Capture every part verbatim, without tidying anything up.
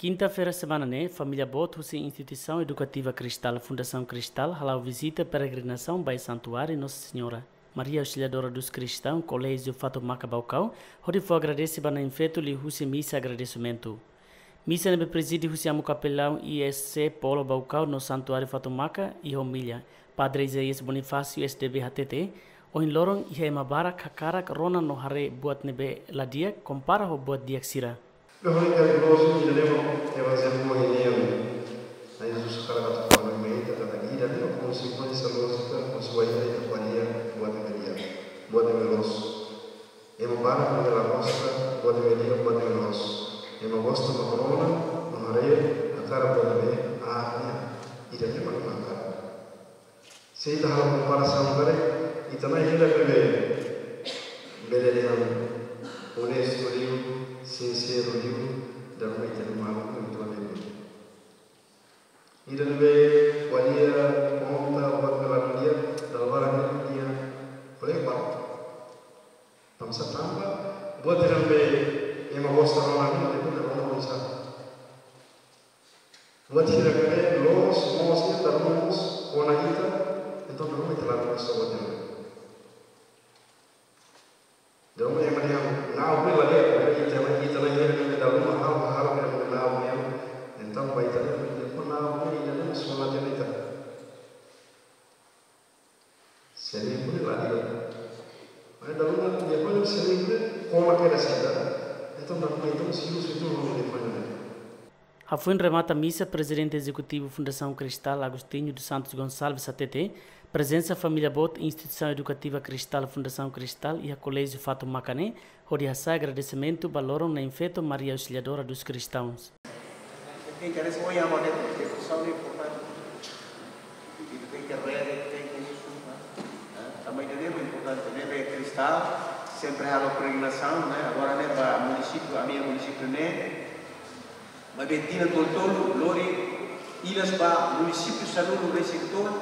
Kinta-feira semana ne'e, família boot husi Instituisaun Edukativa Cristal, Fundasaun Cristal, hala'o vizita peregrinasaun ba Santuáriu Nossa Senhora Maria Auxiliadora dos Cristãos, Koléjiu Fatumaka Baucau, hodi fó agradese ba Na'in-Feto liuhusi misa agradesimentu. Misa ne'ebé prezide husi Amu Kapelaun I S C Polo Baucau no Santuáriu Fatumaka, iha omília, Padre Isaías Bonifácio, S D B, hatete, ohin loron iha ema barak hakarak rona no haree buat ne'ebé la di'ak kompara ho buat di'ak sira. Ita-nia Evanjellu ohin nian, Na'i Jesus hakarak atu fó ba ita katak ita tenke konsekuénsia loos, ita konsekuénsia ita ko'alia buat ne'ebé di'ak, buat ne'ebé loos. Ema barak ne'ebé la gosta buat ne'ebé di'ak, buat ne'ebé loos. Ema gosta mak rona no haree, hakarak buat ne'ebé aat nian. Ita tenke mak hakarak. Se ita halo komparasaun karik, ita-nia ida ne'ebé bele dehan onestu liu, sinseru liu, dala ruma ita-nia maluk ne'e ita la bele. Ida ne'ebé ko'alia kontra buat ne'ebé la di'ak, dala barak ne'e iha ko'alia barak. Tanba sá? Tanba buat ida ne'ebé ema gosta rona, ema tenke rona oinsá. Buat sira ne'ebé loos, moos, ita rona moos, kona ita, entaun dala ruma ita la gosta buat ida. Dala ruma ema dehan, na'ok ne'e la di'ak, ita, ita la di'ak, ita dala ruma halo, halo, ita na'ok ne'e, entaun ba ita, ita, ita, na'ok ne'e, ita, ita, sona ita. Se ne'e pun la di'ak. Mas dala ruma, depois se ne'e pun, kona kedas ita. Entaun, dala ruma, entaun, se uza, entaun, não defende, né? Hafoin remata misa, Prezidente Ezekutivu Fundasaun Cristal, Agostinho dos Santos Gonçalves, hatete, prezensa família boot Instituisaun Edukativa Cristal, Fundasaun Cristal, iha Koléjiu Fatumaka ne'e, hodi hasa'e agradesimentu ba loron Na'in-Feto Maria Auxiliadora dos Cristãos. Ita tenke reza ohin, aman, devosaun ne'e importante. Ita tenke reza, ita tenke usu, eh? Tanba ida-ne'e importante, ne'ebé Cristal sempre halo peregrinasaun, ne'e? Agora ne'e ba munisípiu, ami-nia munisípiu ne'e, maibé tinan tolu-tolu, lori ilas ba munisípiu sanulu-resin-tolu,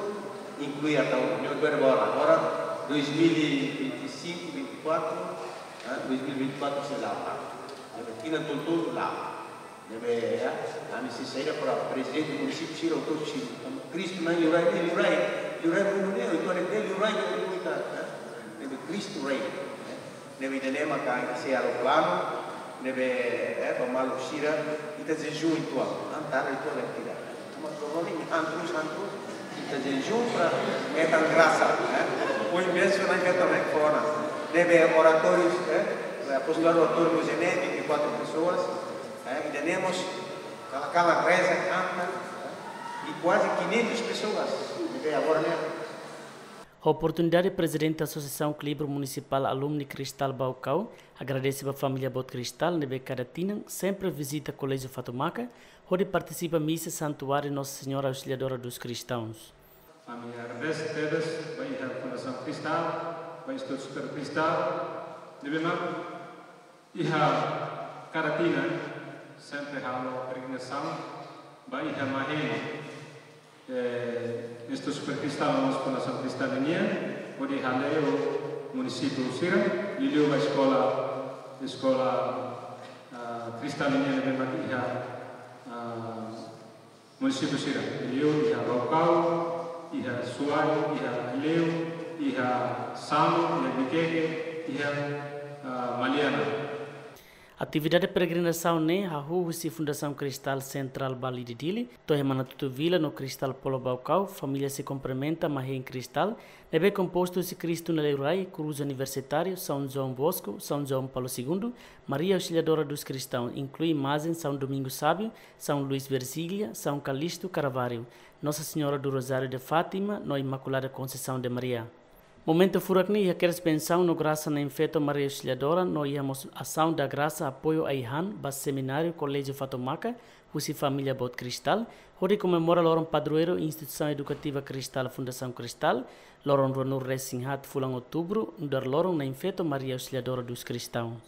inklui Ataúro. Ne'e agora, agora dois mil e vinte e cinco, vinte e quatro, eh, dois mil e vinte e quatro sei la'o. Ne'ebé tinan tolu-tolu la'o. Ne'ebé, ya, ami sei saida para prezidente munisípiu sira, autór sira. Kristu mak liurai, liurai, liurai mundu ne'e, entaun ne'e liurai ne'e, ne'ebé Kristu rai, eh? Ne'ebé ida-ne'e maka ita sei halo planu, ne'ebé, eh, ba maluk sira, ita jejún uitoan, antara uitoan ne'e ita. Mas problema ne'e, han terus, han terus. Ita jejún para hetan grasa, eh? Ohin bensaun ne'e hetan mai fora. Ne'ebé oratóriu, eh? Apostoladu oratóriu José ne'e, vinte e quatro pessoas, eh? Ida-ne'e mós kala-kala reza, kanta, eh? E quase quinhentas pessoas, ne'ebé agora ne'e. Ho oportunidade, Prezidente Asosiasaun Klibur Munisipál Alumni Cristal Baucau agradese ba família boot Cristal ne'ebé kada tinan sempre vizita Koléjiu Fatumaka, hodi partisipa misa Santuáriu Nossa Senhora Auxiliadora dos Cristãos. Ami agradese tebes ba iha Fundasaun Cristal, ba Institutu Super Cristal, ne'ebé mak iha kada tinan sempre halo peregrinasaun ba iha Mahén, eh, Institutu Super Cristal no mós Fundasaun Cristal nian, hodi hale'u munisípiu sira, liuliu ba eskola, eskola, ah, Cristal nian ne'ebé mak iha, ah, munisípiu sira, liuliu iha Baucau, iha Suai, iha Aileu, iha Samu, iha Viqueque, iha, ah, Maliana. Atividade peregrinasaun ne'e hahú husi Fundasaun Cristal Central Bali di Dili, to'o iha Manatuto Vila no Cristal Polo Baucau, família sei kumprimenta Mahén Cristal, ne'ebé kompostu husi Kristu nia liurai, Krús Universitáriu, São João Bosco, São João Paulo Segundo, Maria Auxiliadora dos Cristãos, inklui imajen São Domingos Sábio, São Luís Virgília, São Calixto Caravaggio, Nossa Senhora do Rosário de Fátima, no Imaculada Conceição de Maria. Momentu furak ne'e iha kedas bensaun no grasa Na'in-Feto Maria Auxiliadora, no iha mós asaun da grasa apoiu ai-han ba semináriu Koléjiu Fatumaka, husi família boot Cristal, hodi komemora loron padroeiru Instituisaun Edukativa Cristal Fundasaun Cristal, loron ruanulu-resin-haat fulan Outubru, nu'udar loron Na'in-Feto Maria Auxiliadora dos Cristãos.